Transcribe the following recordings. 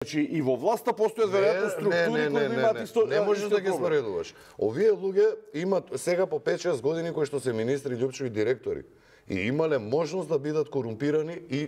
Значи и во власта постојат веројатно структури кои имаат исто. Не можеш да ги споредуваш. Овие луѓе имаат сега по 5-6 години кои што се министри, љупчеви директори и имале можност да бидат корумпирани и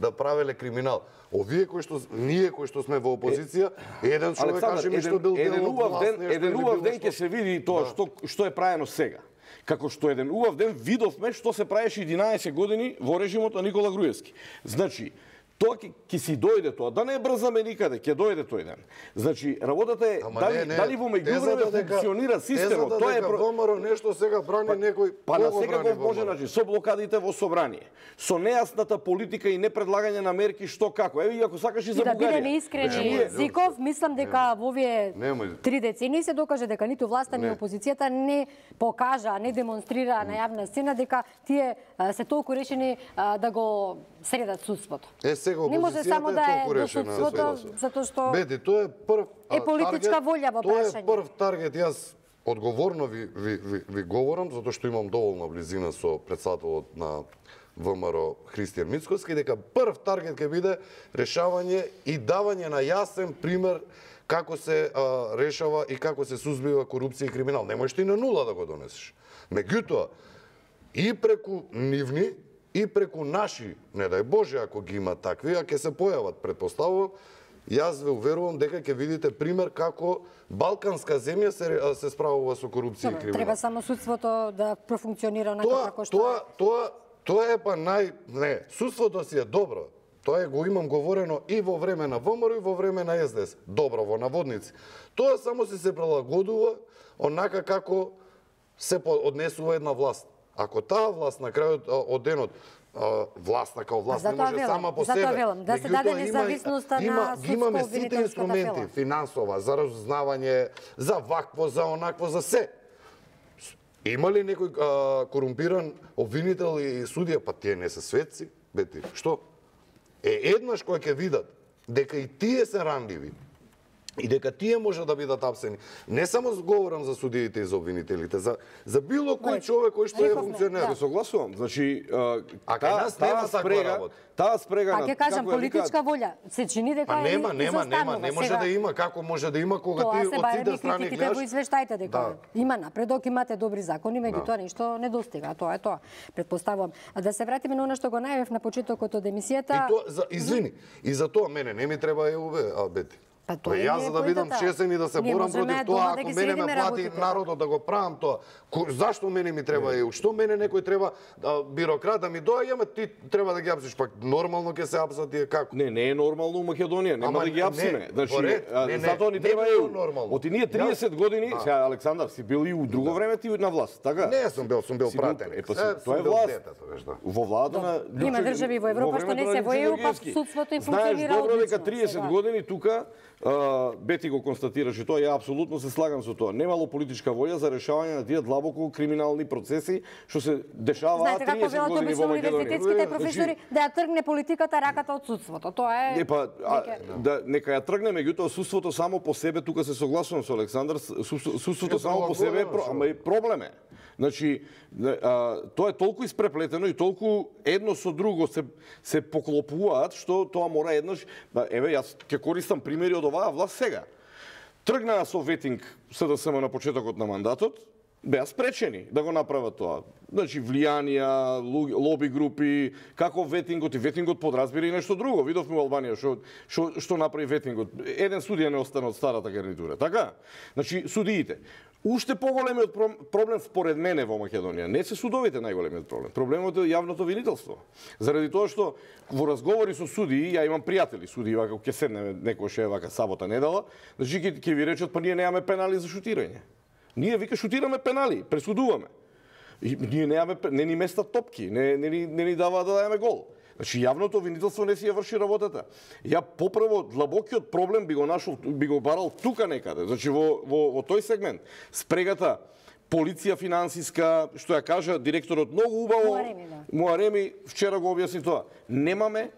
да правеле криминал. Овие кои што ние кои што сме во опозиција, еден човек каже ми што бил дел од власт, еден убав ден ќе се види тоа што е правено сега. Како што еден убав ден видовме што се правеше 11 години во режимот на Никола Груевски. Значи, тоа ќе си дојде тоа, да не брзаме никаде, ќе дојде тој ден. Значи, работата е дали во меѓувреме функционира системот, тоа е ВМРО нешто сега брани некој. Па на секако може, значи, со блокадите во собрание, со нејасната политика и непредлагање на мерки што како. Еве, ако сакаш и за Бугарија. Да бидеме искрени, Зиков, мислам дека во овие 3 децении се докаже дека ниту власта ни опозицијата не покажа, не демонстрира на јавна сцена дека тие се толку решени да го средат судството. Не може само да е до судството, затоа што Бети, тоа е прв политичка волја во прашање. Тоа е прв таргет, јас одговорно ви говорам, затоа што имам доволна близина со председателот на ВМРО Христијан Мицкоски, дека прв таргет ќе биде решавање и давање на јасен пример како се решава и како се сузбива корупција и криминал. Не можеш и на нула да го донесеш. Меѓутоа, и преку нивни, и преку наши, не дај Боже, ако ги има такви, а ќе се појават, предпоставувам, јас ве уверувам дека ќе видите пример како балканска земја се справува со корупција и криминал. Треба само судството да профункционира онака како што Тоа е па не, судството си е добро. Тоа го имам говорено и во време на ВМРО и во време на СДС. Добро во наводници. Тоа само се прилагодува онака како се однесува една власт. Ако таа власт на крајот од денот власта како власт не може сама по себе. Да се даде независноста на имаме сите инструменти, финансова, за разузнавање, за вакво, за онакво, за се. Има ли некој корумпиран обвинител и судија? Па тие не се светци, бети. Што? Еднаш кој ќе видат дека и тие се ранливи, и дека тие може да бидат апсени. Не само говорам за судиите и за обвинителите, за било кој човек кој што е функционер. Се согласувам. Значи, таа спрега на... Па ќе кажам, политичка волја. Се чини дека нема, не може да има. Како може да има кога ти од сите страни гледаш? Тоа се во извештаите дека има напредок, имате добри закони, меѓутоа ништо не достига. Тоа е тоа. Предпоставувам. А да се вратиме на она што го најавив на почетокот од емисијата. Извини, и за тоа мене не ми треба ЕУБ, Бети. Јас за да видам чесен и да се борам против тоа, ако мене ме плати народот да го правам тоа, зашто мене ми треба ЕУ? Што мене некој треба бирократ да ми доаѓа, ама ти треба да ги апсиш, пак нормално ќе се апсат тие како? Не е нормално у Македонија, нема да ги апсиме. Значи, затоа ни треба ЕУ. Оти ние 30 години, сега Александар си бил и у друго време ти на власт, така? Не, сум бил пратеник. Тоа е власт. Во владата на има држави во Европа што не се во ЕУ, па судството им функционира одлично. Знаеш добро дека 30 години тука Бети го констатираше тоа, ја апсолутно се слагам со тоа. Немало политичка волја за решавање на тие длабоко криминални процеси што се дешаваат 30 години во Македонија. Универзитетските професори да ја тргне политиката раката од судството. Тоа е нека ја тргне, меѓутоа судството само по себе, тука се согласувам со Александар, судството само по себе е проблем. Значи, тоа е толку испреплетено и толку едно со друго се поклопуваат, што тоа мора еднаш... Еве, јас ќе користам примери од оваа власт сега. Тргнаа со ветинг СДСМ на почетокот на мандатот, беа спречени да го направат тоа. Значи, влијанија, лоби групи, како ветингот, и ветингот подразбира и нешто друго. Видовме во Албанија што направи ветингот. Еден судија не остана од старата гарнитура, така? Значи, судиите. Уште поголемиот проблем според мене во Македонија не се судовите најголемиот проблем. Проблемот е јавното обвинителство. Заради тоа што во разговори со судии, ја имам пријатели судии, вака ќе седнеме некој вака сабота недела, значи ќе ви речат па ние немаме пенали за шутирање. Ние вика шутираме пенали, пресудуваме. И ние немаме, не ни местат топки, не ни даваат да дајаме гол. Значи, јавното обвинителство не си ја врши работата. Ја попрво длабокиот проблем би го барал тука некаде, значи во тој сегмент. Спрегата полиција финансиска, што ја кажа директорот многу убаво. Муареми вчера го објасни тоа. Немаме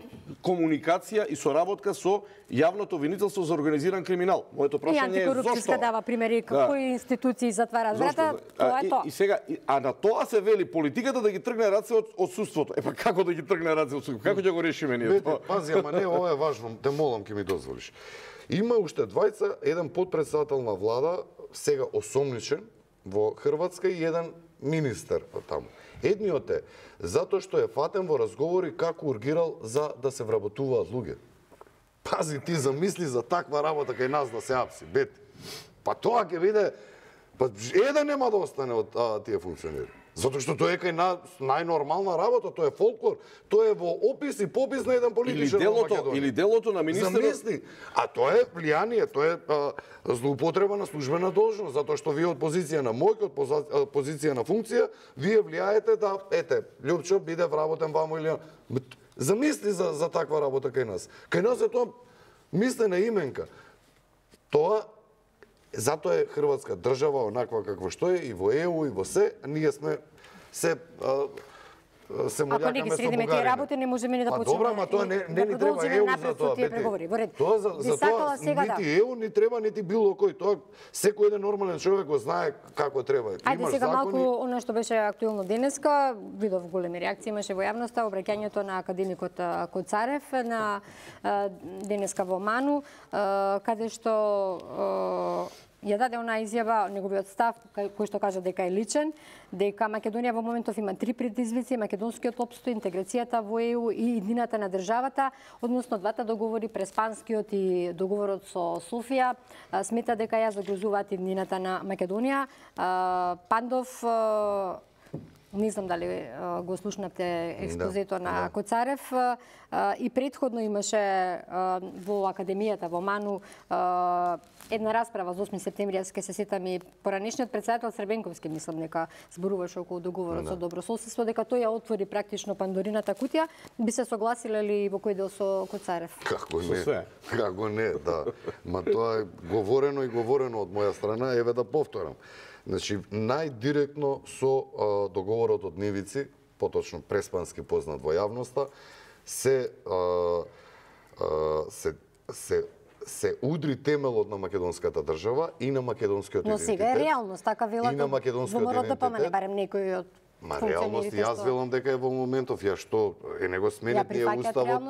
комуникација и соработка со јавното обвинителство за организиран криминал. Моето прашање е зошто? И антикорупцијска дава примери кои институции затвараат врата, тоа е тоа. И сега, а на тоа се вели политиката да ги тргне раце од отсуството. Па како да ги тргне раце од отсуството? Како ќе го решиме ние тоа? Пази, ама не, ова е важно, те молам ќе ми дозволиш. Има уште двајца, еден подпредседател на влада, сега осомничен во Хрватска и еден министер таму. Едниот е затоа што е фатен во разговори како ургирал за да се вработуваат луѓе. Пази, ти замисли за таква работа кај нас да се апси, бети. Па тоа ќе биде, па еден нема да остане од тие функционери. Затоа што тоа е кај најнормална работа, тоа е фолклор, тоа е во опис и попис на еден политичар во Македонија. Или делото на министерот. Замисли, а тоа е влијание, тоа е злоупотреба на службена должност, затоа што вие од позиција на моќ, од позиција на функција, вие влијаете да, ете, Љупчо биде вработен ваму или... Замисли за таква работа кај нас. Кај нас е тоа мислена именка. Тоа затоа е Хрватска држава онаква каква што е и во ЕУ и во се, ние сме се молјакаме ако не ги средиме тие работи, не можеме ни да почнеме. Добра, ма тоа не ни треба ЕУ за тоа. Тоа за тоа нити ЕУ ни треба, нити било кој. Тоа секој еден нормален човек го знае како треба. Ајде сега малку она што беше актуелно денеска, видов големи реакции имаше во јавноста, обраќањето на академикот Коцарев на денеска во Ману, каде што ја даде она изјава, неговиот став, кој што кажа дека е личен, дека Македонија во моментов има 3 предизвици: македонскиот опстој, интеграцијата во ЕУ и иднината на државата, односно двата договори, преспанскиот и договорот со Софија, смета дека ја загрозуваат иднината на Македонија. Пандов, не знам дали го слушнавте експозето на Коцарев, и предходно имаше во Академијата во Ману една расправа за 8 септември, јас ке се сетам и поранешниот председател Србенковски, мислам дека зборуваше околу договорот со добрососедство, дека тој ја отвори практично Пандорината кутија. Би се согласиле ли во кој дел со Коцарев? Како не? Како не, да. Ма тоа е говорено и говорено од моја страна, еве да повторам. Значи, најдиректно со договорот од Нивици, поточно преспански познат во јавноста, се удри темелот на македонската држава и на македонскиот идентитет. Но сега е реалност, така велат во морот да помане барем некој од Ма реалност, јас велам дека е во моментов, ја што не го сменет ние уставот,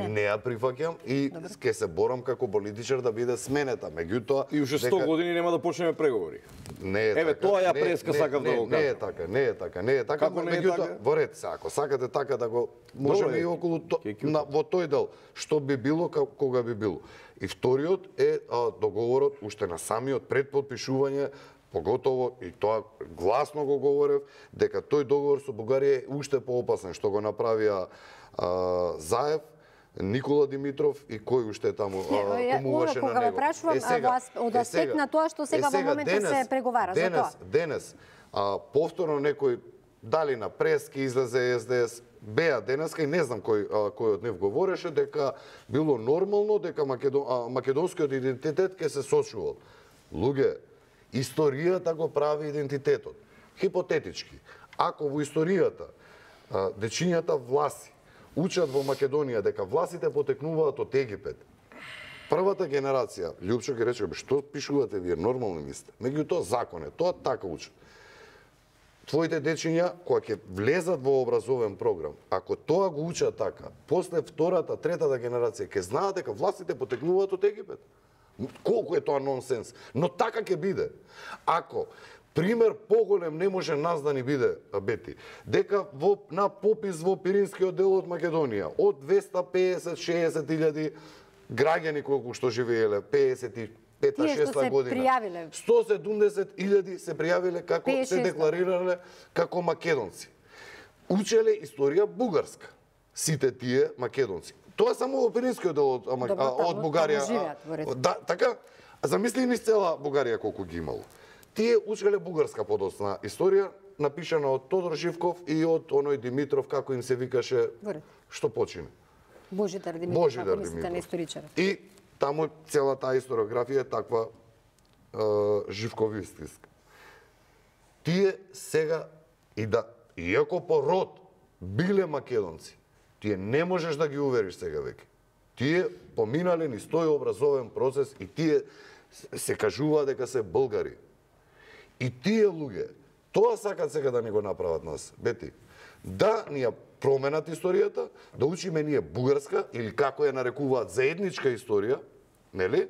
не ја прифаќам и ќе се борам како политичар да биде сменета. Меѓутоа и уште 100 години нема да почнеме преговори. Не е така. Еве тоа ја преска сакав да го кажам. Не е така, не е така, не е така. Како не е така? Во ред, ако сакате така да го можеме и околу во тој дел што би било кога би било. И вториот е договорот уште на самиот пред подпишување, поготово, и тоа гласно го говорев, дека тој договор со Бугарија е уште поопасен, што го направија Заев, Никола Димитров и кој уште таму помуваше на него. Кога ве прашувам, од аспект на тоа што сега во моментот се преговара за тоа. Денес, повторно некој, дали на прески излезе СДС, беа денеска и не знам кој од нив говореше, дека било нормално, дека македонскиот идентитет ќе се сочувал. Луѓе, историјата го прави идентитетот. Хипотетички, ако во историјата дечињата власи учат во Македонија дека власите потекнуваат од Египет, првата генерација, Љупчо ги рече, што пишувате вие, нормални ми сте. Меѓутоа закон е, тоа така учат. Твоите дечиња, кога ќе влезат во образовен програм, ако тоа го учат така, после втората, третата генерација ќе знаат дека властите потекнуваат од Египет. Колку е тоа нонсенс, но така ќе биде. Ако пример поголем не може нас да ни биде, Бети, дека на попис во Пиринскиот дел од Македонија, од 250-60 илјади граѓани колку што живееле, 55-6 година, 170 илјади се пријавиле како се декларирале како македонци. Учеле историја бугарска, сите тие македонци. Тоа само во Пиринскиот дел од Бугарија. Да, така, замисли низ цела Бугарија колку ги имало. Тие учеле бугарска подоцна историја, напишана од Тодор Живков и од оној Димитров, како им се викаше, што почине. Божидар Димитров, ако мислите на историчар. И таму цела таа историографија е таква живковистичка. тие сега иако по род биле македонци, тие не можеш да ги увериш сега веќе. Тие поминале низ тој образовен процес и тие се кажуваат дека се българи. И тие луѓе, тоа сакат сега да ни го направат нас, Бети. Да ни ја променат историјата, да учиме ние бугарска или како ја нарекуваат заедничка историја, нели?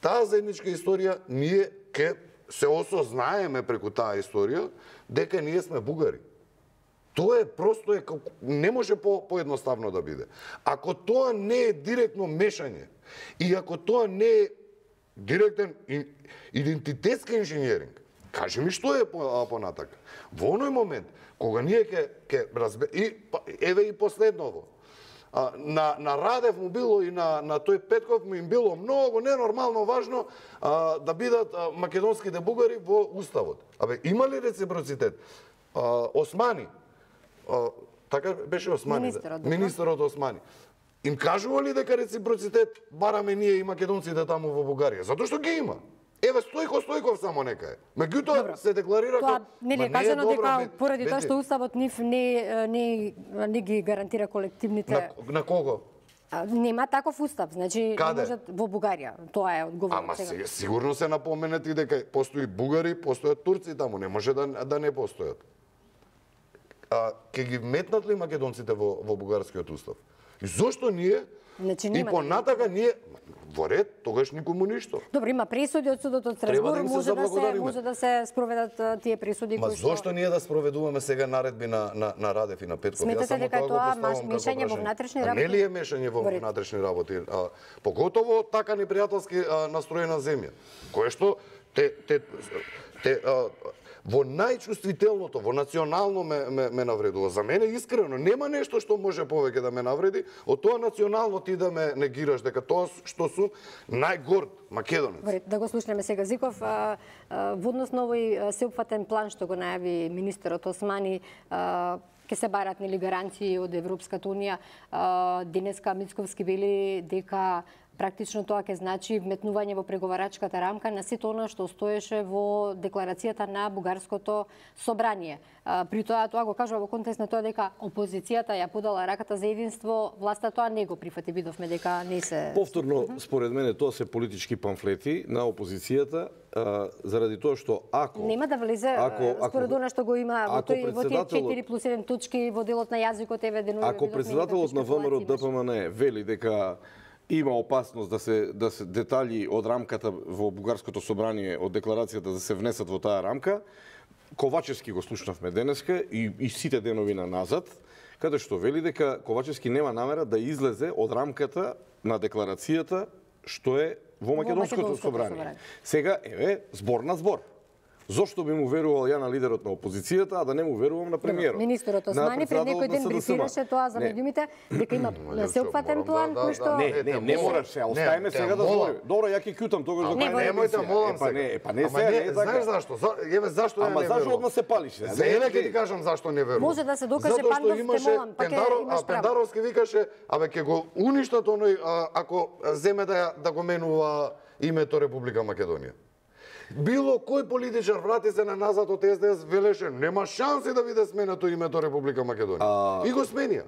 Таа заедничка историја ние ќе се осознаеме преку таа историја дека ние сме бугари. Тоа е просто не може поедноставно да биде. Ако тоа не е директно мешање и ако тоа не е директен идентитетски инженеринг, кажи ми што е понатака. Во оној момент кога ние ќе еве и последново, на Радев му било и на тој Петков му им било многу ненормално важно да бидат македонските бугари во уставот. Абе, има ли реципроцитет? Османи, така беше Османи, министерот Османи. Им кажува ли дека реципроцитет бараме ние и македонците таму во Бугарија? Затоа што ги има. Еве Стојков само нека е. Меѓутоа се декларира тоа нели е кажано дека поради тоа што уставот нив не ги гарантира колективните. На кого? Нема таков устав, значи не можат во Бугарија. Тоа е одговорот сега. Ама сигурно се напоменети дека постои бугари, постојат турци таму, не може да не постојат. Ке ги метнат ли македонците во бугарскиот устав? И зошто ние и понатака ние во ред, тогаш никому ништо. Добро, има пресуди од судот од Страсбург, може да се спроведат тие пресуди кои што. Ма зошто ние да спроведуваме сега наредби на Радев и на Петков? Сметате дека тоа мешање во внатрешни работи? Не ли е мешање во внатрешни работи? Поготово така непријателски настроена земја, кое што во најчувствителното, во национално ме навредува. За мене искрено нема нешто што може повеќе да ме навреди од тоа национално ти да ме негираш дека тоа што сум најгорд македонец. Да го слушнеме сега Зиков. Во однос на овој сеопфатен план што го најави министерот Османи, ќе се барат нели гаранции од Европската унија. Денеска Мицковски вели дека практично тоа ќе значи вметнување во преговарачката рамка на сето она што стоеше во декларацијата на Бугарското собрание. При тоа го кажува во контекст на тоа дека опозицијата ја подала раката за единство, власта тоа не го прифати, видовме дека не се. Повторно, според мене тоа се политички памфлети на опозицијата, заради тоа што ако нема да влезе според она што го има во тие 4+1 точки во делот на јазикот, еве денови. Ако председателот на ВМРО ДПМН вели дека има опасност да се детали од рамката во Бугарското собрание од декларацијата да се внесат во таа рамка, Ковачевски го слушнавме денеска и сите денови назад, каде што вели дека Ковачевски нема намера да излезе од рамката на декларацијата што е во Македонското собрание. Сега еве збор на збор. Зошто би му верувал ја на лидерот на опозицијата, а да не му верувам на премиерот? Министерот Османи пред некој ден брифираше тоа за медиумите, дека има сеопфатен план кој што Не мораш се, оставиме сега да зборим. Добро, ја ќе кјутам тогаш да немојте, молам се. Не се, знаеш зашто? Еве зашто ја не верувам. Ама зашто одма се палише? Еве ќе ти кажам зашто не верувам. Може да се докаже Пандов, те молам, па ќе имаш право. Пендаровски викаше, абе ќе го уништат оној ако земе да го менува името Република Македонија. Било кој политичар врати се на назад од СДС велеше нема шанси да биде сменето името Република Македонија. И го сменија.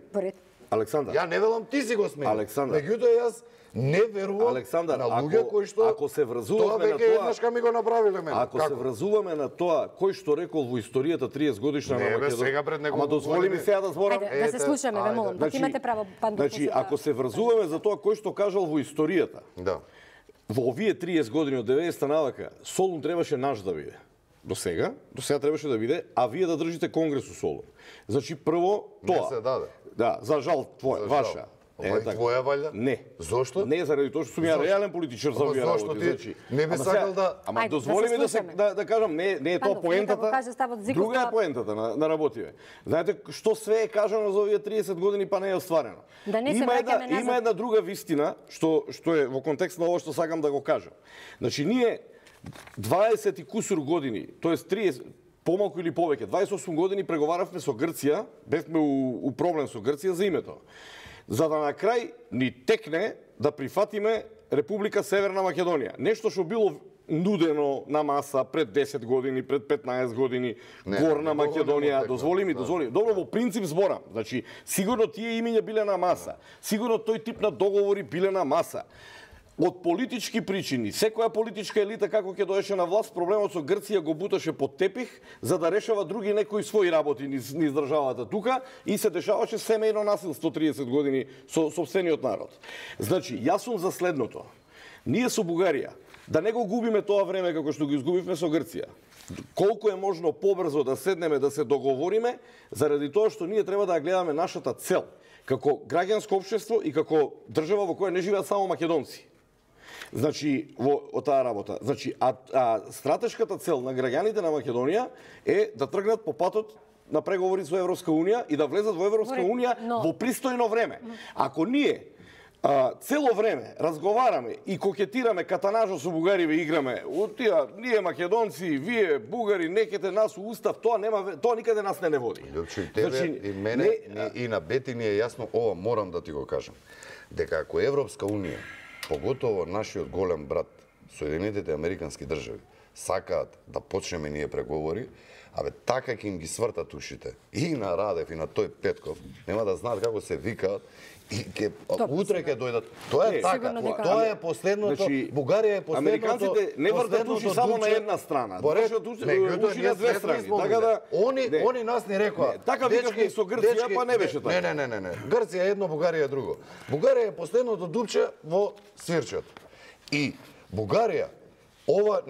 Александар. Ја не велам ти си го смени. Александар. Меѓутоа јас не верувам на луѓе кои што ако се врзуваме на тоа еднашка ми го направиле мене. Ако се врзуваме на тоа кој што рекол во историјата 30 годишна на Македонија. Ама дозволи ми сега да зборам. Да се слушаме, ве молам. Пак имате право, Пандов. Значи, ако се врзуваме за тоа кој што кажал во историјата. Да. Во овие 30 години од 90-та навака, Солун требаше наш да биде. До сега требаше да биде, а вие да држите конгрес у Солун. Значи, прво тоа. Не се даде. Да, за жал твоја, ваша. Твоја валја? Не. Зошто? Не, заради тоа што сум ја реален политичар за овие работи. Значи, не би сакал да... Ама дозволи ми да кажам, не е тоа поентата. Друга е поентата на работиве. Знаете што све е кажано за овие 30 години, па не е остварено. Да не се враќаме назад. Има една друга вистина што е во контекст на ово што сакам да го кажам. Значи, ние 20 и кусур години, тоест 30 помалку или повеќе, 28 години преговаравме со Грција, бевме у проблем со Грција за името. За да на крај ни текне да прифатиме Република Северна Македонија. Нешто што било нудено на маса пред 10 години, пред 15 години, Горна Македонија, дозволи ми. Добро, во принцип зборам. Значи, сигурно тие имиња биле на маса. Сигурно тој тип на договори биле на маса. Од политички причини, секоја политичка елита како ќе доеше на власт, проблемот со Грција го буташе под тепих за да решава други некои своји работи низ државата тука и се дешаваше семејно насилство 30 години со сопствениот народ. Значи, јас сум за следното. Ние со Бугарија да не го губиме тоа време како што го изгубивме со Грција. Колку е можно побрзо да седнеме да се договориме, заради тоа што ние треба да гледаме нашата цел како граѓанско општество и како држава во која не живеат само македонци. Значи, во таа работа. Значи, стратешката цел на граѓаните на Македонија е да тргнат по патот на преговори со Европска Унија и да влезат во Европска Унија во пристојно време. Ако ние цело време разговараме и кокетираме катанажо со бугариве играме, ние македонци, вие бугари, некете нас у устав, тоа никаде нас не води. Љупчо, и тебе, и мене, и на Бети ни е јасно, ова морам да ти го кажам, дека ако Европска Унија, поготово нашиот голем брат, Соединетите Американски држави, сакаат да почнеме ние преговори, така ќе им ги свртат ушите. И на Радев, и на тој Петков, нема да знаат како се викаат, и утре ќе дојдат. Тоа е така. Тоа е последното. Бугарија е последното. Американците не вртат уши само на една страна. Вртат уши на две страни. Така да они нас ни рекоа. Така викавме со Грција, па не беше така. Не. Грција е едно, Бугарија е друго. Бугарија е последното дупче во свирчето. И Бугарија ова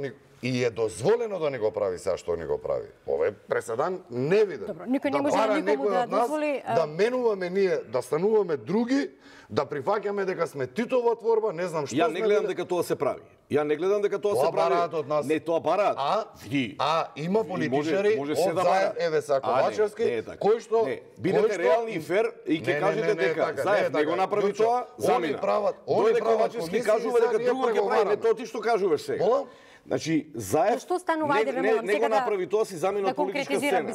и е дозволено да не го прави сега што не го прави. Ова е преседан невиден. Добро, никој не може никому да дозволи да менуваме ние, да стануваме други, да прифаќаме дека сме Титова творба, не знам што. Ја не гледам дека тоа се прави. Ја не гледам дека тоа се прави. Не, тоа бараат. Има политичари од Заев, еве са Ковачевски, кој што бидете реални и фер и ќе кажете дека Заев не го направи тоа, замина. Дојде Ковачевски кажува дека друго ќе прави, не тоа ти што кажуваш сега. Значи, Заев не го направи тоа, си замина од политичка сцена.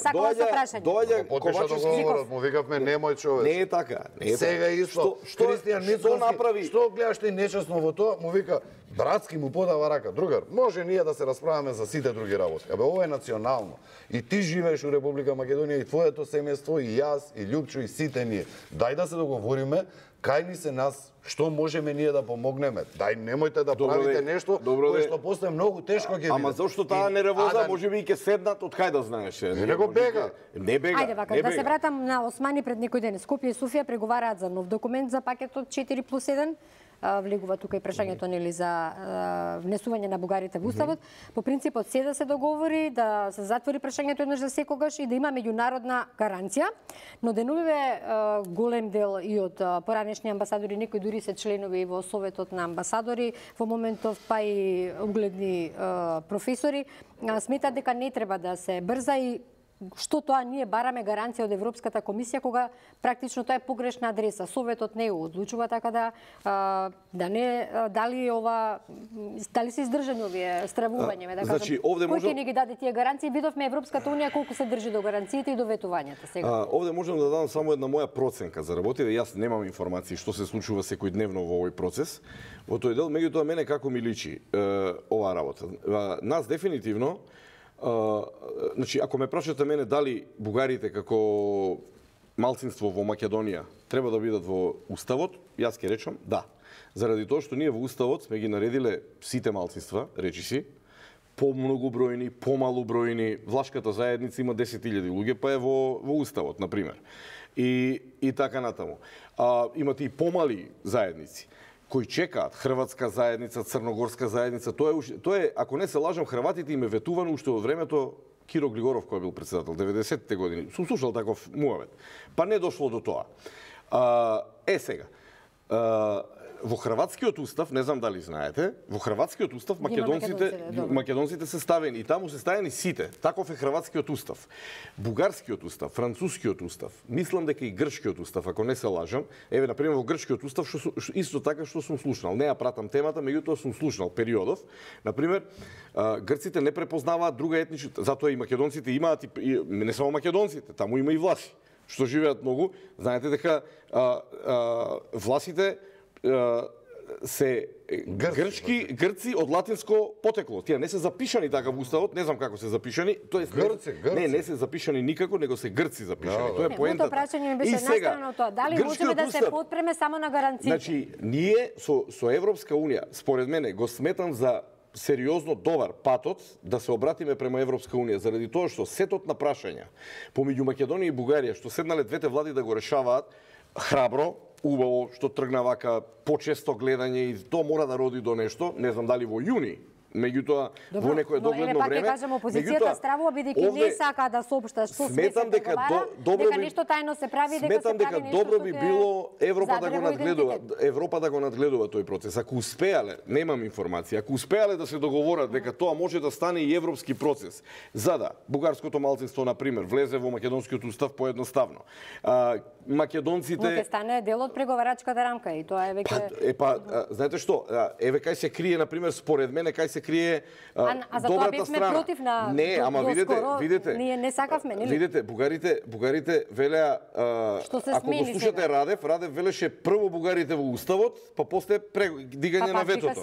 Доаѓа Ковачевски, му викавме немој човек. Не е така. Сега исто, Христијан Мицкоски, што гледаш ти нечесно во тоа, му вика, братски му подава рака. Другар, може ние да се расправаме за сите други работи. Ова е национално. И ти живееш у Република Македонија, и твоето семејство, и јас, и Љупчо, и сите ние. Дај да се договориме, кај ни се нас, што можеме ние да помогнеме. Дај, немојте да правите нешто кое што после многу тешко ќе биде. Ама зошто таа нервоза, можеби и ќе седнат, од кај да знаеш? Не го бега. Не бега. Ајде вака, да се вратам на Османи пред некој ден. Скопје и Софија преговараат за нов документ за пакетот 4+1. Влегува тука и прашањето нели за внесување на бугарите во уставот. По принципот се да се договори, да се затвори прашањето еднаш за секогаш и да има меѓународна гаранција. Но денуве голем дел и од поранешни амбасадори, некои дури се членови во Советот на амбасадори, во моментов па и угледни професори, сметат дека не треба да се брза и што тоа ние бараме гаранција од Европската комисија кога практично тоа е погрешна адреса. Советот не го одлучува, така да не дали се издржани овие стравувања, да кажам. Кој ќе ни ги даде тие гаранции? Видовме Европската унија колку се држи до гаранциите и до ветувањата сега. Овде можам да дадам само една моја проценка за работи, да јас немам информации што се случува секојдневно во овој процес. Во тој дел, меѓутоа мене како ми личи оваа работа. Нас дефинитивно значи, ако ме прашате мене дали бугарите како малцинство во Македонија треба да бидат во уставот, јас ќе речам да. Заради тоа што ние во уставот сме ги наредиле сите малцинства, речиси, помногубројни, помалубројни, влашката заедница има 10.000 луѓе, па е во уставот, например. И така натаму. Имате и помали заедници кои чекаат, хрватска заедница, црногорска заедница, тоа е, ако не се лажам, хрватите им е ветувано уште од времето Киро Глигоров кој бил претседател 90-те години. Сум слушал таков муавет. Па не дошло до тоа. Сега. Во хрватскиот устав, не знам дали знаете, во хрватскиот устав македонците се ставени и таму се ставени сите. Таков е хрватскиот устав. Бугарскиот устав, францускиот устав, мислам дека и грчкиот устав, ако не се лажам, еве на пример во грчкиот устав исто така што сум слушнал. Не ја пратам темата, меѓутоа сум слушнал периодов. На пример, грците не препознаваат друга етничка, затоа и македонците имаат и не само македонците, таму има и власи што живеат многу. Знаете дека власите се грци од латинско потекло. Тие не се запишани така во уставот, не знам како се запишани, тоест не се запишани никако, него се грци запишани. Тоа е поентата. Моето прашање ми беше настрано тоа. Дали можеме да се подпреме само на гаранциите? Значи, ние со Европска унија, според мене, го сметам за сериозно добар патот да се обратиме према Европска унија, заради тоа што сетот на прашања помеѓу Македонија и Бугарија, што седнале двете влади да го решаваат храбро, убаво, што тргна вака почесто гледање и тоа мора да роди до нешто, не знам дали во јуни, меѓутоа во некое догледно време. Пак кажам, опозицијата стравува бидејќи не сака да соопшта што се преговара, дека нешто тајно се прави, дека се прави нешто што дека добро би било Европа да го надгледува тој процес. Ако успеале, немам информација, ако успеале да се договорат дека тоа може да стане и европски процес, за да бугарското малцинство на пример влезе во македонскиот устав поедноставно. Македонците ќе стане дел од преговарачката рамка и тоа е веќе знаете што, еве кај се крие на пример според мене кај се крие добрата страна. Против на не, ама видете. Ние не сакавме, нели? Видете, бугарите велеа ако го слушате Радев велеше прво бугарите во уставот, па после дигање на ветото.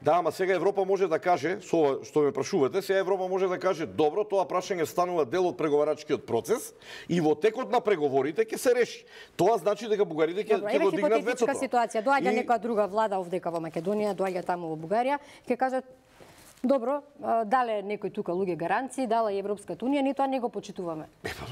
Ама сега Европа може да каже, со ова што ме прашувате, сега Европа може да каже, добро, тоа прашање станува дел од преговарачкиот процес и во текот на преговорите ќе се реши. Тоа значи дека бугарите ќе го дигнат ветото. Хипотетичка ситуација, доаѓа некоја друга влада овдека во Македонија, доаѓа таму во Бугарија, ќе кажат добро, дале некој тука луѓе гаранции, дала и Европската унија, ние тоа не го почитуваме.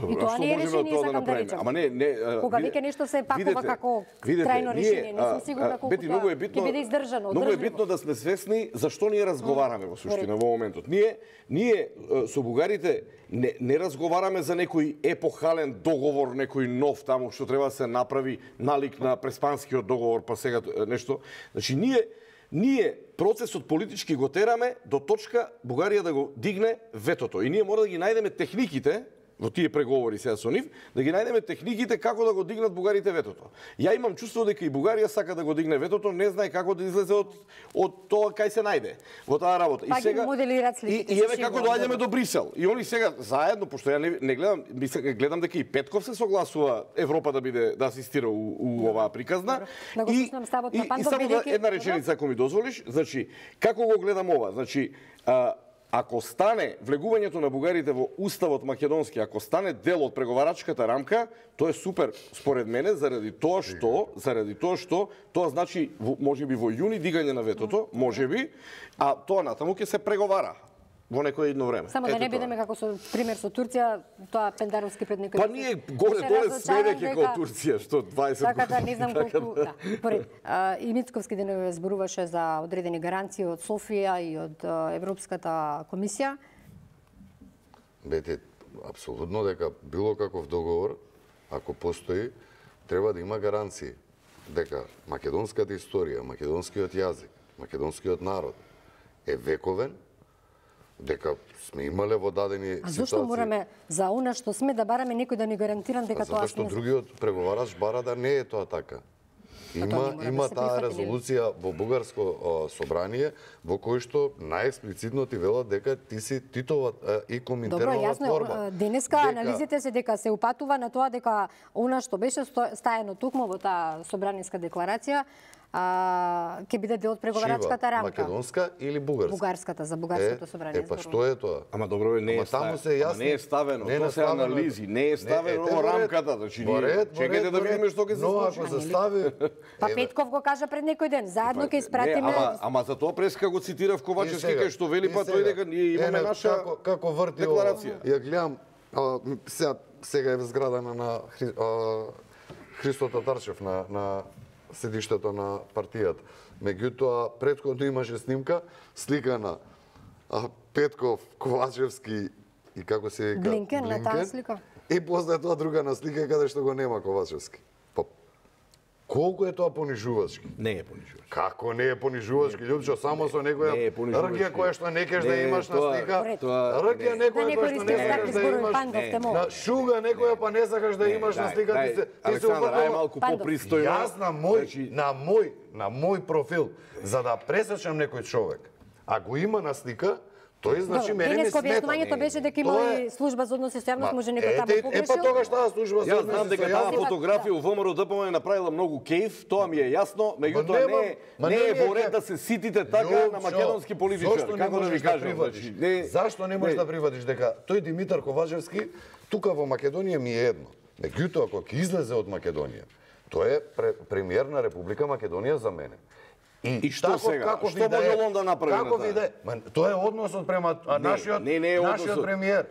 И тоа не е решение, сакам да речам. Ама не, кога веќе нешто се пакува како трајно решение, не сум сигурна колку тоа ќе биде издржано. Многу е битно да сме свесни зашто ние разговараме во суштина во моментот. Ние со бугарите не разговараме за некој епохален договор, некој нов таму што треба да се направи налик на преспанскиот договор, па сега нешто. Значи ние процесот политички го тераме до точка Бугарија да го дигне ветото. И ние мора да ги најдеме техниките во тие преговори сега со нив, да ги најдеме техниките како да го дигнат бугарите ветото. Ја имам чувство дека и Бугарија сака да го дигне ветото, не знае како да излезе од тоа кај се најде во таа работа. И сега и еве како доаѓаме до Брисел. И они сега заедно, пошто ја не гледам, гледам дека и Петков се согласува Европа да биде да асистира у оваа приказна. И само една реченица ако ми дозволиш, значи како го гледам ова? Значи ако стане влегувањето на бугарите во уставот македонски, ако стане дел од преговарачката рамка, тоа е супер според мене заради тоа што тоа значи можеби во јуни дигање на ветото, можеби, а тоа натаму ќе се преговара во некој едно време. Само да не бидеме како со пример со Турција, тоа пендаровски пред некој. Па ние горе-доле сме веќе како Турција, што 20 така да не знам колку, поред. И Мицковски денес зборуваше за одредени гаранции од Софија и од Европската комисија. Бете, апсолутно дека било каков договор, ако постои, треба да има гаранции дека македонската историја, македонскиот јазик, македонскиот народ е вековен, дека сме имале во дадени ситуации. А зошто мораме за она што сме да бараме некој да ни гарантирам дека тоа што другиот преговарач бара да не е тоа така. Има таа резолуција во бугарско собрание во кој што најексплицитно ти велат дека ти си Титова и Коминтернова творба. Денеска анализите се дека се упатува на тоа дека она што беше стаено токму во таа собраниска декларација ќе биде дел од преговарачката рамка. Македонска или бугарска? Бугарската, за бугарското собрание. Па што е тоа? Ама добро, не е ставено. Тоа се анализи, не е ставено во рамката. Значи, чекајте да видиме што ќе се случи. Ако се стави... Па Петков го кажа пред некој ден. Заедно ќе испратиме... Ама за тоа преска го цитирав Ковачевски, кај што вели па тој дека ние имаме наша декларација. Ја гледам, сега е зградана на Христо Татарчев на седиштето на партијата. Меѓутоа, претходно имаше снимка, слика на Петков, Ковачевски и како се вика Блинкен на таа слика. И после тоа друга на слика каде што го нема Ковачевски. Колку е тоа понижувачки? Не е понижувачки. Како не е понижувачки? Луѓе, само со некоја ргија која што не кеш да имаш на слика. Ргија некоја која што не сакаш да имаш. На шуга некоја па не сакаш да имаш на слика. Ти се малку попристојно. Јас на мој профил, за да пресечам некој човек, ако има на слика, Тој значи мене ми смета. Објаснувањето беше дека имали служба за односи со јавност, може некој таму погрешил. Па тогаш таа служба за односи со јавност. Јас знам дека таа фотографија у ВМРО ДПМН направила многу кејф, тоа ми е јасно, меѓутоа не е во ред да се ситите така на македонски политичар, како да ви кажам. Зашто не можеш да прифатиш дека тој Димитар Ковачевски тука во Македонија ми е едно. Меѓутоа кога ќе излезе од Македонија, тој е премиер на Република Македонија за мене. И што сега? Што може он да направи? Како виде? Тоа е односот према нашиот премиер.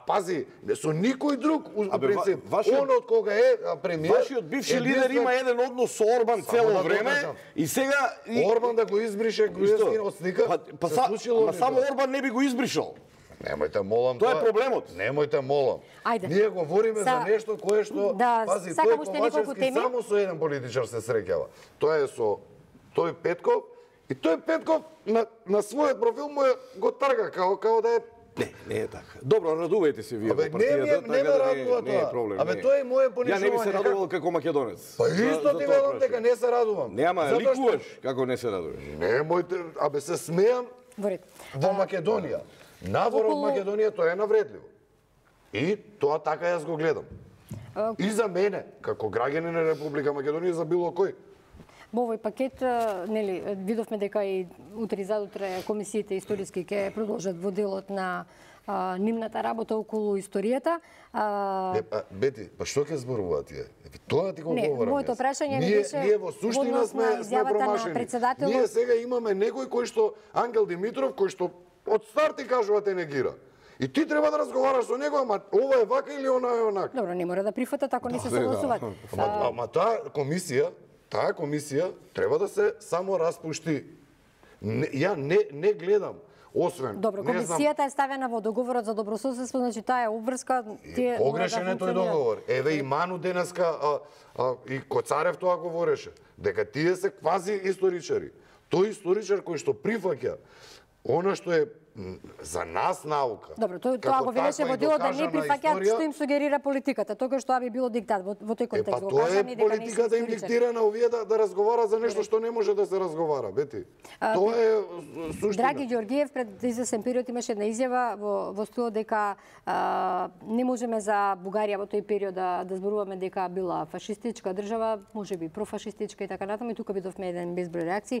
Пази, со никој друг у принцип. Он од кога е премиер. Вашиот бивши лидер има еден однос со Орбан цело време и сега Орбан да го избрише Груевски од слика. Па само Орбан не би го избришал. Немојте молам тоа. Тоа е проблемот. Немојте молам. Ние говориме за нешто кое што пази тој Ковачевски само со еден политичар се среќава. Тоа е со тој Петков и тој Петков на својот профил му го трга како да е. Не е така. Добро, радувајте се вие во партијата, така да не е проблем. Тоа е моје понишување. Ја не би се радувал како македонец. Па исто ти велам дека не се радувам. Нема, ликуваш како не се радуваш. Немојте, се смеам во Македонија. Навор од Македонија тоа е навредливо. И тоа така јас го гледам. И за мене, како граѓанин на Република Македонија, за било кој. Во овој пакет, нели, видовме дека и утре и задутре комисиите историски ќе продолжат во делот на нивната работа околу историјата. Бети, па што ќе зборуваат тие? Тоа ти го говорам. Не, моето прашање не беше ние во суштина сме промашени. Ние сега имаме некој кој што Ангел Димитров, кој што од старт ти кажува те негира. И ти треба да разговараш со него, ама ова е вака или она е онака. Добро, не мора да прифатат ако не се согласуваат. Ама таа комисија треба да се само распушти. Ја не гледам, освен... Добро, комисијата е ставена во договорот за добрососедство, значи таа е обврска... Погрешен е тој договор. Еве и Ману денеска и Коцарев тоа говореше, дека тие се квази историчари. Тој историчар кој што прифаќа она што е за нас наука. Добро, тоа го велеше во делот да не прифаќаат што им сугерира политиката, тогаш тоа би било диктат во тој контекст. Па тоа е политиката им диктира на овие да разговара за нешто што не може да се разговара, бети. Тоа е суштина. Драги Ѓоргиев пред извесен период имаше една изјава во стилот дека не можеме за Бугарија во тој период да зборуваме дека била фашистичка држава, можеби профашистичка и така натаму, и тука видовме еден безброј реакции.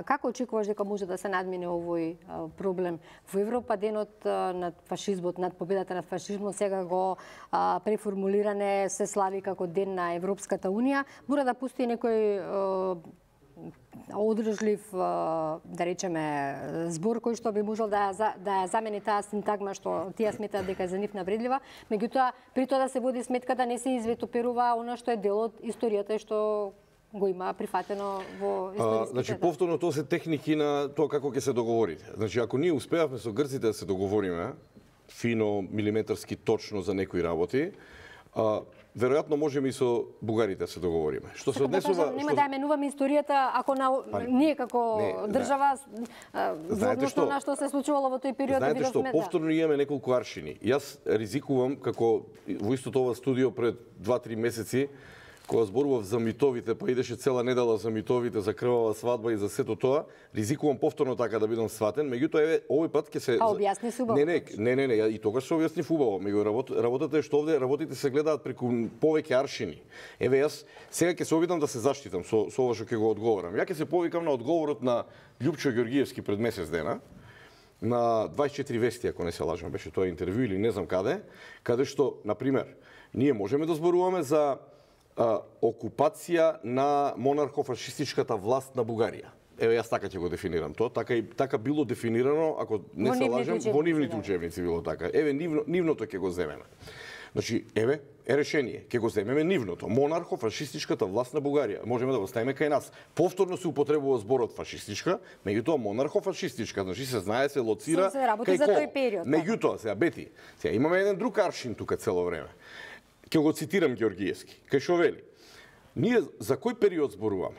Како очекуваш дека може да се надмине овој проблем? Во Европа денот над фашизмот, над победата над фашизмот сега го преформулиране се слави како ден на Европската унија. Мора да постои некој одржлив, да речеме, збор кој што би можел да ја замени таа синтагма што тие сметаат дека е за нив навредлива. Меѓутоа, при тоа да се води сметка да не се извитоперува она што е дел од историјата и што го има прифатено во историските. Значи повторно тоа се техники на тоа како ќе се договорите. Значи ако ние успеавме со грците да се договориме фино, милиметарски точно за некои работи, веројатно можеме и со бугарите да се договориме. Што се однесува, нема да ја менуваме историјата ако ние како држава во односно на што се случувало во тој период. Знаете што, повторно имаме неколку аршини. Јас ризикувам како во истото ова студио пред 2-3 месеци кога зборував за митовите, па идеше цела недела за митовите, за крвава свадба и за сето тоа, ризикувам повторно така да бидам сватен, меѓутоа еве овој пат ќе се објасни убаво. Не, и тогаш се објасни убаво, меѓу работата е што овде работите се гледаат преку повеќе аршини. Еве јас сега ќе се обидам да се заштитам со ова што ќе го одговорам. Ја ќе се повикам на одговорот на Љупчо Ѓоргиевски пред месец дена на 24 вести, ако не се лажам, беше тоа интервју или не знам каде што, на пример, ние можеме да зборуваме за окупација на монархо-фашистичката власт на Бугарија. Еве јас така ќе го дефинирам тоа, така било дефинирано, ако не се лажам, во нивните учебници било така. Еве нивното ќе го земеме. Значи, еве е решение, ќе го земеме нивното. Монархо-фашистичката власт на Бугарија. Можеме да го ставиме кај нас. Повторно се употребува зборот фашистичка, меѓутоа монархо-фашистичка, значи се знае, се лоцира кај кол. Меѓутоа, сега Бети, сега имаме еден друг аршин тука цело време. Ќе го цитирам Ѓоргиевски, кај што вели: ние за кој период зборуваме?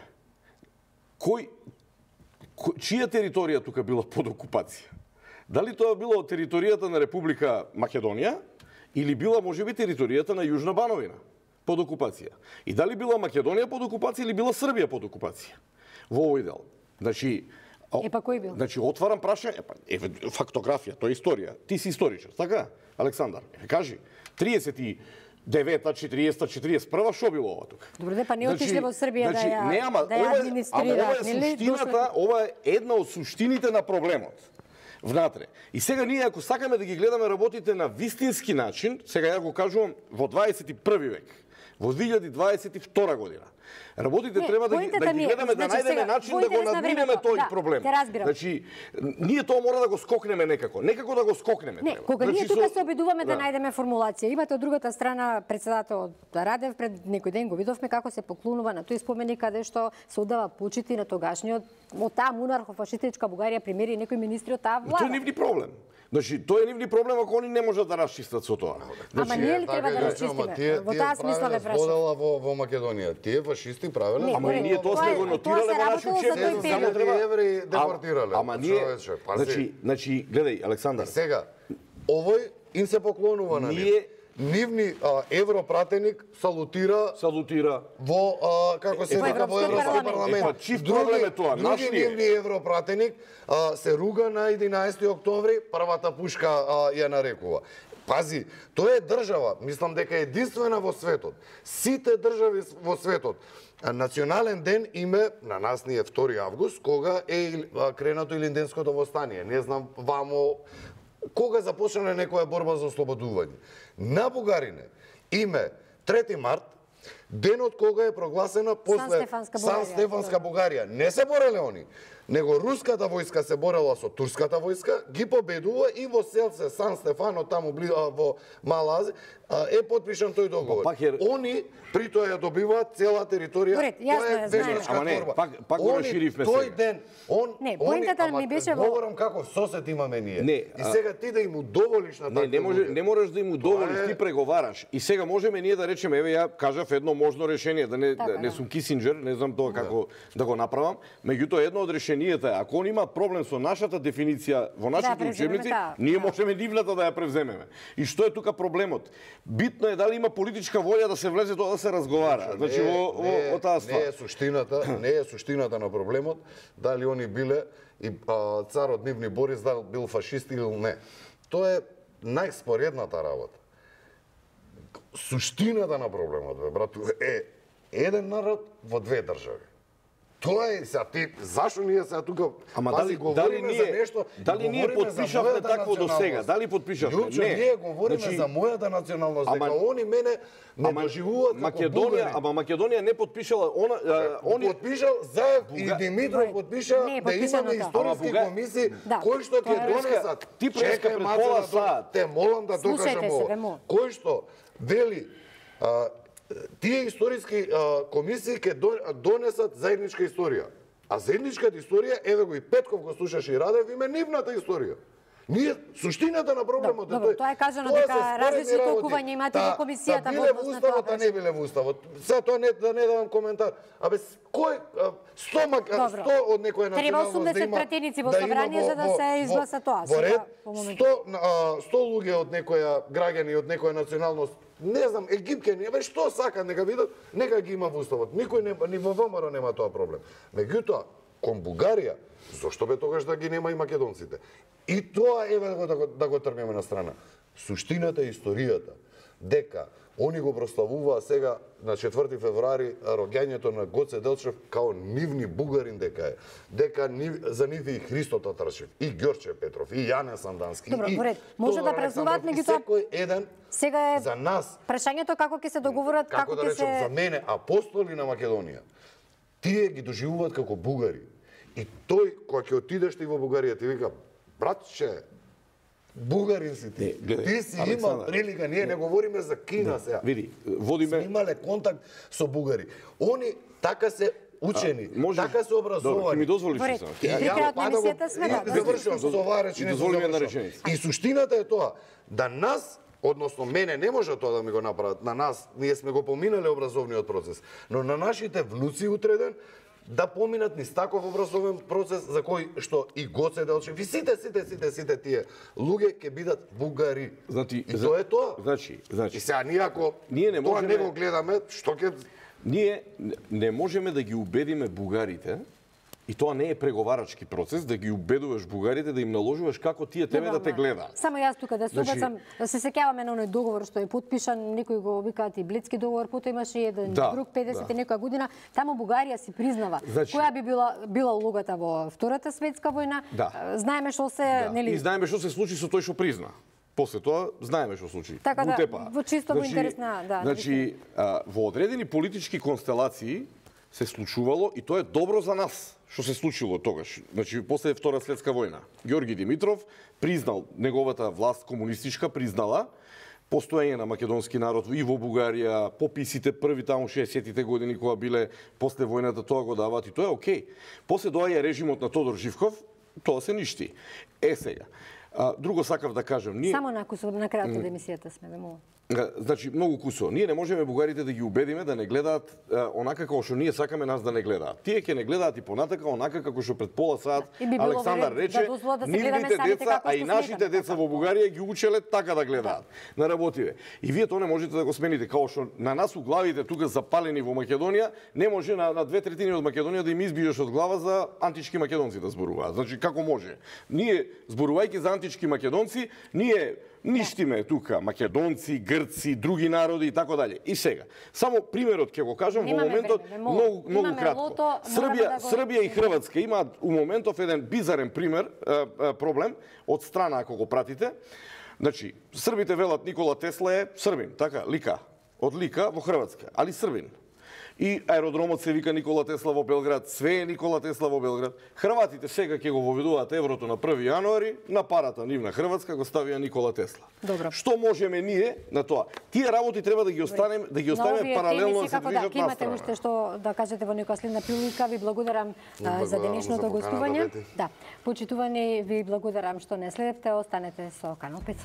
Чија територија тука била под окупација? Дали тоа било територијата на Република Македонија или била можеби територијата на Јужна Бановина под окупација? И дали била Македонија под окупација или била Србија под окупација? Во овој дел. Значи, Па кој бил? Значи, отварам прашање, фактографија, тоа е историја. Ти си историчар, така? Александар, кажи, 39-та, 40-та, 41-та, шо било ова тука? Добре, па не отишле во Србија да ја администрираат, ова е една од суштините на проблемот. Внатре. И сега ние, ако сакаме да ги гледаме работите на вистински начин, сега ја го кажувам во 21 век, во 2022 година, работите треба да ги гледаме, да најдеме начин да го надминеме тој проблем. Значи, ние тоа мора да го скокнеме некако. Некако да го скокнеме. Не, кога ние тука се обидуваме да најдеме формулација, имате од другата страна председател Радев, пред некој ден го видовме како се поклонува на тој споменик каде што се оддава почити на тогашниот од таа монархо-фашистичка Бугарија премиери и некои министри од таа влада. Тоа е нивни проблем. Значи, тоа е нивни проблем ако они не можат да расчистат со тоа. Ама ние ли треба да расчистиме? Во таа смисла ве прашам. Во Македонија, тие фашисти правеле. Ама ние тоа сме го нотирале во нашиот учебник, само треба евреи депортирале. Ама ние, значи, гледај Александар. Сега, овој им се поклонува на нив. Нивни европратеник салутира во како се вика во Европски парламент. Чист проблем е тоа, други нивни европратеник се руга на 11 октомври, првата пушка ја нарекува. Пази, тоа е држава, мислам дека е единствена во светот. Сите држави во светот национален ден име на нас ни е 2 август, кога е кренато Илинденското востание. Не знам вамо кога започна некоја борба за ослободување. На бугарине име 3 март, денот кога е прогласена после Сан-Стефанска Бугарија. Не се бореле они, него руската војска се борела со турската војска, ги победува и во селце Сан-Стефано, таму во Мала Азија, е потпишан тој договор. Они при тоа ја добиваат цела територија. Тоа е вежничка борба. Пак го расширивме сега. Тој ден, поентата ми беше во... Говорам како сосет имаме ние. И сега ти да им удоволиш на така. Не можеш да им удоволиш, ти преговараш. И сега можеме ние да речеме, еве ја кажав едно можно решение, да не сум Кисинџер, не знам тоа како да го направам, меѓутоа едно од решенијата е, ако он има проблем со нашата дефиниција во нашите учебници, ние можеме нивната да ја превземеме. И што е тука проблемот? Битно е дали има политичка волја да се влезе тоа да се разговара. Значи во таа ствар. Не е суштината на проблемот дали они биле и царот нивни Борис дали бил фашист или не. Тоа е најспоредната работа. Суштината на проблемот, брату, е еден народ во две држави. Тоа е сега ти зашо ние сега тука говориме за нешто? Дали ние потпишавме такво до сега? Дали потпишавме? Не. Ние говориме за мојата националност, дека они мене не доживуваат како бугари. Ама Македонија не потпишала, они потпишал Заев и Димитров потпиша да имаме историски комисии кои што ќе донесат. Ти преска пред пола саат. Те молам да докажам ова. Кој што вели тие историски комисии ќе донесат заедничка историја. А заедничката историја, еве го и Петков го слушаше и Радев, име нивната историја. Ние суштината на проблемот е тој. Тоа е кажано дека различни толкувања имате во комисијата во однос на тоа. Да не биле во уставот. Сега тоа не давам коментар. Абе кој 100 од некоја националност треба 80 пратеници во собрание за да се изгласа тоа. Во ред 100 луѓе од некоја граѓани од некоја националност, не знам, египкени, бе што сакат нека видат, нека ги има во уставот. Никој ни во ВМРО нема тоа проблем. Меѓутоа, кон Бугарија, зошто бе тогаш да ги нема и македонците? И тоа еве да го тргнеме на страна. Суштината е историјата дека они го прославуваа сега на 4 февруари роѓањето на Гоце Делчев као нивни бугарин дека е. Дека за нив и Христо Татарчев, и Ѓорче Петров, и Јане Сандански. Добро, поред. Може да празнуваат меѓутоа. Секој еден сега е за нас. Прашањето како ќе се договорат, како ќе се за мене апостоли на Македонија. Тие ги доживуваат како бугари. И тој кога ќе отидеш ти во Бугарија ти вика: "Братче, бугарин си ти. Ти си имал прилика, ние не говориме за Кина сега. Види, водиме... Имале контакт со бугари. Они така се учени, така се образовани. Добро, ти ми дозволиш само. При крајот на емисијата сме да. Завршувам со оваа реченица. И суштината е тоа, да нас, односно мене не може тоа да ми го направат, на нас, ние сме го поминале образовниот процес, но на нашите внуци утреден, да поминат низ таков образовен процес за кој што и Гоце Делчев и сите тие луѓе ќе бидат бугари. Значи, и тоа е тоа. Значи. И сега ние ако тоа не го гледаме, што ќе... Ние не можеме да ги убедиме бугарите И тоа не е преговарачки процес да ги убедуваш бугарите да им наложуваш како тие тебе да те гледаат. Само јас тука да се обацам, се сеќаваме на оној договор што е потпишан, некои го викаат и Блицки договор, потоа имаше еден друг 50 некоја година, таму Бугарија си признава која би била улогата во Втората светска војна. Знаеме што се, нели? И знаеме што се случи со тој што призна. После тоа знаеме што случи. Така во чисто во интерес на Значи, во одредени политички констелации се случувало и тоа е добро за нас што се случило тогаш. Значи, после Втора светска војна, Ѓорги Димитров признал, неговата власт комунистичка признала постоење на македонски народ и во Бугарија, пописите први таму 60-тите години кога биле после војната, тоа го даваат и тоа е окей. После доаѓа режимот на Тодор Живков, тоа се ништи. Сега, друго сакав да кажам, ние само на крајот од емисијата сме ве. Значи, многу кусо. Ние не можеме бугарите да ги убедиме да не гледаат онака како што ние сакаме нас да не гледаат. Тие ќе не гледаат и понатака онака како што пред пола сат Александар рече, нивните деца, а и нашите деца во Бугарија ги учеле така да гледаат. На работиве. И вие тоа не можете да го смените. Као што на нас у главите тука запалени во Македонија, не може на 2/3 од Македонија да им избиеш од глава за антички македонци да зборуваат. Значи, како може? Ние, зборувајќи за антички македонци, ние ништиме тука македонци, грци, други народи и така дале. И сега, само примерот ќе го кажам во моментот многу кратко. Србија и Хрватска имаат у моментов еден бизарен пример, проблем од страна ако го пратите. Значи, србите велат Никола Тесла е србин, така, Лика, од Лика во Хрватска, али србин. И аеродромот се вика Никола Тесла во Белград, све е Никола Тесла во Белград. Хрватите сега ќе го воведуваат еврото на 1 јануари, на парата нивна Хрватска го ставија Никола Тесла. Добро. Што можеме ние на тоа? Тие работи треба да ги оставиме паралелно да се движат настрана. Имате уште што да кажете во некоја следна прилика. Ви благодарам за денешното гостување. Да, почитувани, ви благодарам што не следевте, останете со Канал 5.